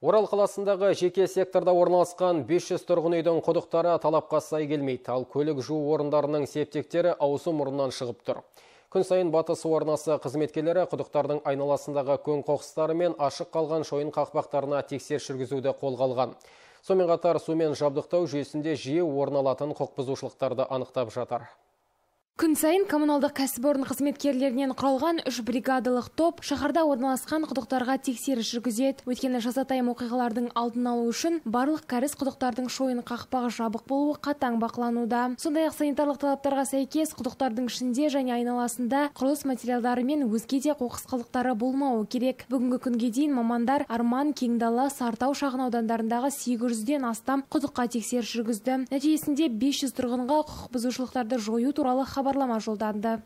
Орал қаласындағы жеке секторда орналасқан 500 тұрғын үйдің құдықтары талапқа сай келмейді, ал көлік жуу орындарының септіктері аузы мұрнынан шығып тұр. Күн сайын Батыс су арнасы қызметкерлері құдықтардың айналасындағы көң қоқыстары мен ашық қалған шойын қақпақтарына тексеріс жүргізуді қолға алған. Сонымен қатар сумен жабдықтау жүйесінде жиі орын алатын құқық бұзушылықтарды анықтап жатыр. Күн сайын коммуналдық кәсіпорын қызметкерлерінен құралған 3 бригадалық топ шаһарда орналасқан құдықтарға тексеріс жүргізеді. Өйткені жазатайым оқиғалардың алдын алу үшін барлық кәріз құдықтардың шойын қақпағы жабық болуы қатаң бақылануда. Сондай-ақ санитарлық талаптарға сәйкес құдықтардың ішінде және айналасында құрылыс материалдары мен өзге де қоқыс қалдықтары болмауы керек. Бүгінгі күнге дейін мамандар Арман, Кеңдала, Сартау шағын аудандарындағы 800-ден астам құдыққа тексеріс жүргізді. Нәтижесінде 500 тұрғынға құқық бұзушылықтарды жою туралы хабарлама жолданды.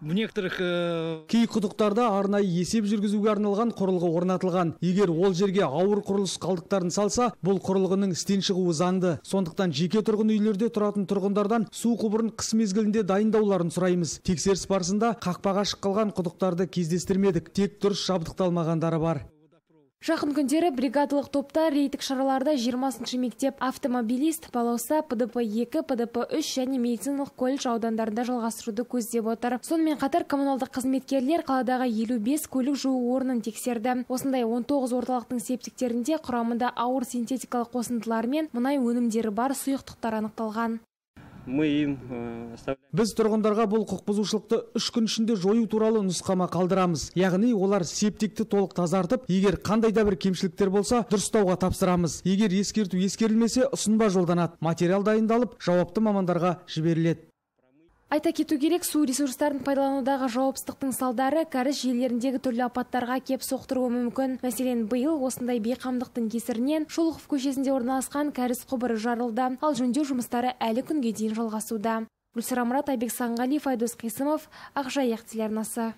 Кей құдықтарда арнайы есеп жүргізуге арналған құрылғы орнатылған. Егер ол жерге ауыр құрылыс қалдықтарын салса, бұл құрылғының істен шығуы заңды. Сондықтан жеке тұрғын үйлерде тұратын тұрғындардан су құбырын қыс мезгілінде дайындауларын сұраймыз. Тексеріс барысында қақпағы ашық қалған құдықтарды кездестірмедік, тек дұрыс жабдықталмағандары бар. Жақын күндері бригадалық топта рейдтік шараларда 20-шы мектеп, автомобилист, балауса, ПДП-2, ПДП-3 және медициналық колледж аудандарында жалғастыруды көздеп отыр. Сонымен қатар коммуналдық қызметкерлер қаладағы 55 көлік жуу орнын тексерді. Осындай 19 орталықтың септиктерінде құрамында ауыр синтетикалық қосындылар мен мұнай өнімдері бар сұйықтықтар анықталған. Біз тұрғындарға бұл құқық бұзушылықты 3 күн ішінде жою туралы нұсқама қалдырамыз. Яғни олар септикті толық тазартып, егер қандай да бір кемшіліктер болса, дұрыстауға тапсырамыз. Егер ескерту ескерілмесе, ұсынба жолданады. Материал дайындалып, жауапты мамандарға жіберіледі. Айта кету керек, су ресурстарын пайдаланудағы жауапсыздықтың салдары кәріз желілеріндегі түрлі апаттарға кеп соқтыруы мүмкін. Мәселен, биыл осындай бейқамдықтың кесірінен Шолохов көшесінде орналасқан кәріз құбыры жарылды, ал жөндеу жұмыстары әлі күнге дейін жалғасуда. Гүлсара Мұрат, Айбек Санғалиев, Айдос Қисымов, Ақжайық телеарнасы.